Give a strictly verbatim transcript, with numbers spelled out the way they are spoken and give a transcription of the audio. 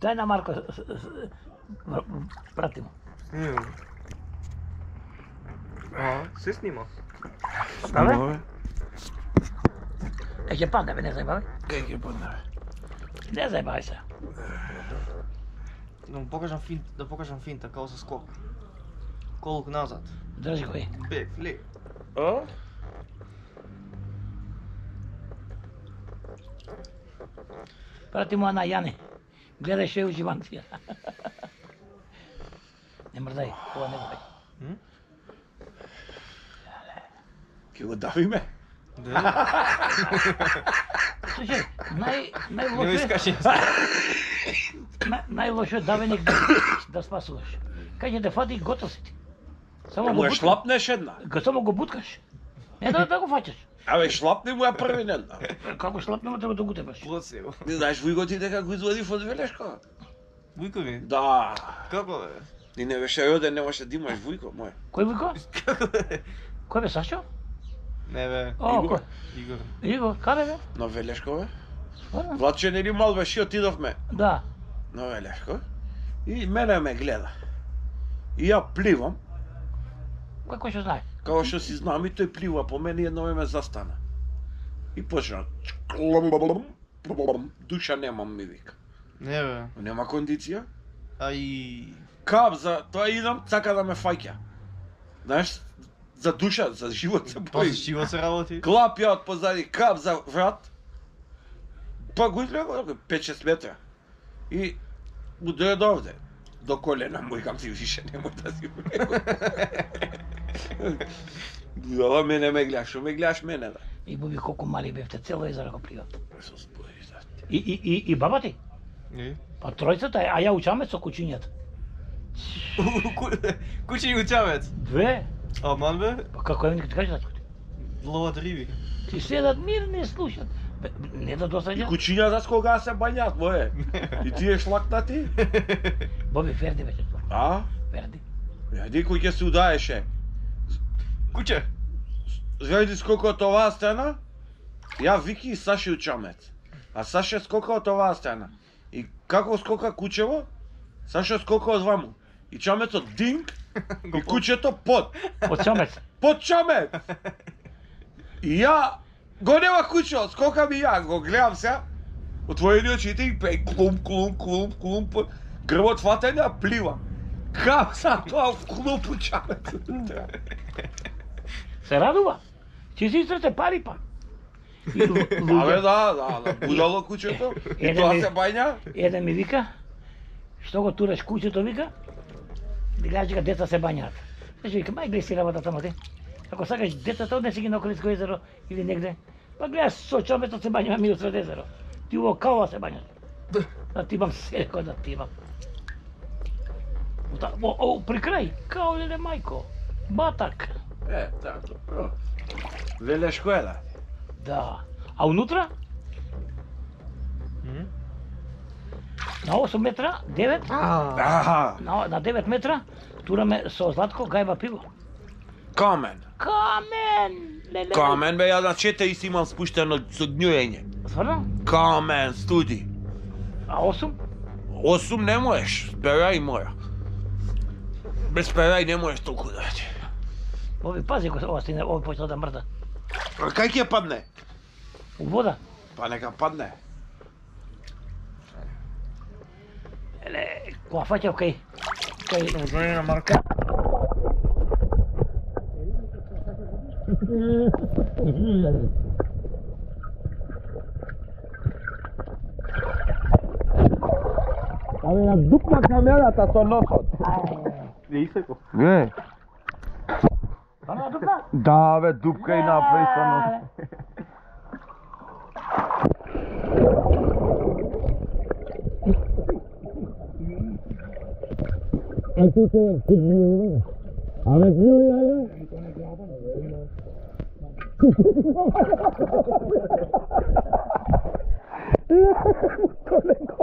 Дај на Марко, прати му. Снимам. А, се снима. Абе? Е, ќе падне, бе, не зајбавај. Кај ќе падне, бе? Не зајбавај се. Да му покажам финт, да покажам финта као со скок. Колук назад. Држи го, е. Бек, лек. А? Прати му на Јане. Гледај што е уживанција. Не мрдај, ова не го бај. Ќе го давиме? Да. Слушај, нај Не најлошо е, искаш. нај- најлошо е давеник да, да спасуваш. Кај ќе те фати готов си ти. Само Му го ја буткаш. шлапнеш една. Го само го буткаш. Не да да го фаќаш. Абе, шлапни му ја први ден. Како шлапнемо треба да го тепаш. Плоци го. Не знаеш Вујко ти дека го извадив од Велешко? Вујко ми? Да. Како бе? Ти не беше роден, не можеш да имаш Вујко, мој. Кој Вујко? Како бе? Кој бе Сашо? Не бе. О, Игор. кој? Игор. Игор, каде бе? На Велешко, бе? Стварно? Владче нели мал беше, отидовме Да. на Велешко. И мене ме гледа. И ја пливам, Кој кој што знае? као што си знам и тој плива по мене и едно ме застана. И почна. Душа немам, ми вика. Не бе. Нема кондиција. Ај. Кап за тоа идам, сака да ме фаќа. Знаеш, за душа, за живот се Па бои. с чиво се работи? Клап ја од позади, кап за врат. Па го изгледа пет-шест метра. И му дојде овде. До колена му викам ти више немој да си у него. Ова мене ме гледаш, шо ме гледаш мене да. И буби колку мали бевте, цело езеро го пливат. Исус Боже, да. И и и и баба ти? Не. Па тројцата, а ја учаме со кучињата. Кучи учавец. Две. Аман бе? Па како е, ти кажеш тачко ти? Ловат риби. Ти седат мирни слушат. Бе, не да И досаѓа. кучињата с кога се бањат, моје. И ти е шлакнати? Боби Ферди беше тоа. А? Ферди. Јади кој ќе се удаеше. Куче. Зајди скока од оваа страна, ја Вики и Саши учамец. А Саша скока од оваа страна. И како скока кучево, Саша скока од ваму. И чамецот динг, и кучето под. Од чамец. Под чамец! И ја, го нема кучето, скока ми ја, го гледам се, отворени очите и пеј клум, клум, клум, клум, грбот фатен ја плива. Кам са тоа в клупу чамецот. Се радува. Ќе си истрете пари па. И лу- Абе луѓе- да, да, да, будало кучето, и Еден тоа ми- се бања. Еден ми вика, што го тураш кучето, вика, гледаш дека деца се бањаат. Значи вика, мај гледај си работа тамо ти. Ако сакаш децата, однеси ги на Околиско езеро или негде, па гледаш со чомецот се бањаме ми усред езеро. Ти уво кава се бањаш. Да ти имам се, кој да ти имам. Ота- О, о, при крај, као леле мајко, батак. Е, така. Велешко е да. Да. А унутра? На осум метра, девет, Аха, на, на девет метра, тураме со Златко гајба пиво. камен. Камен! Леле, Камен бе, ја на четири си имам спуштено со гњуење. Стварно? Камен, студи. А осум? Осум не можеш, перај мора. Без перај не можеш толку да ти. Ови, пази го, ова стине, ови почна да мрда. А кај ќе падне? У вода. Па нека падне. Еле, кога фаќав кај... Кај... Узнање на Марка. Абе, ја дупна камерата со носот. Не исеко. Не. Ама дупна? Да, бе, дупка и направи со носот. Колего.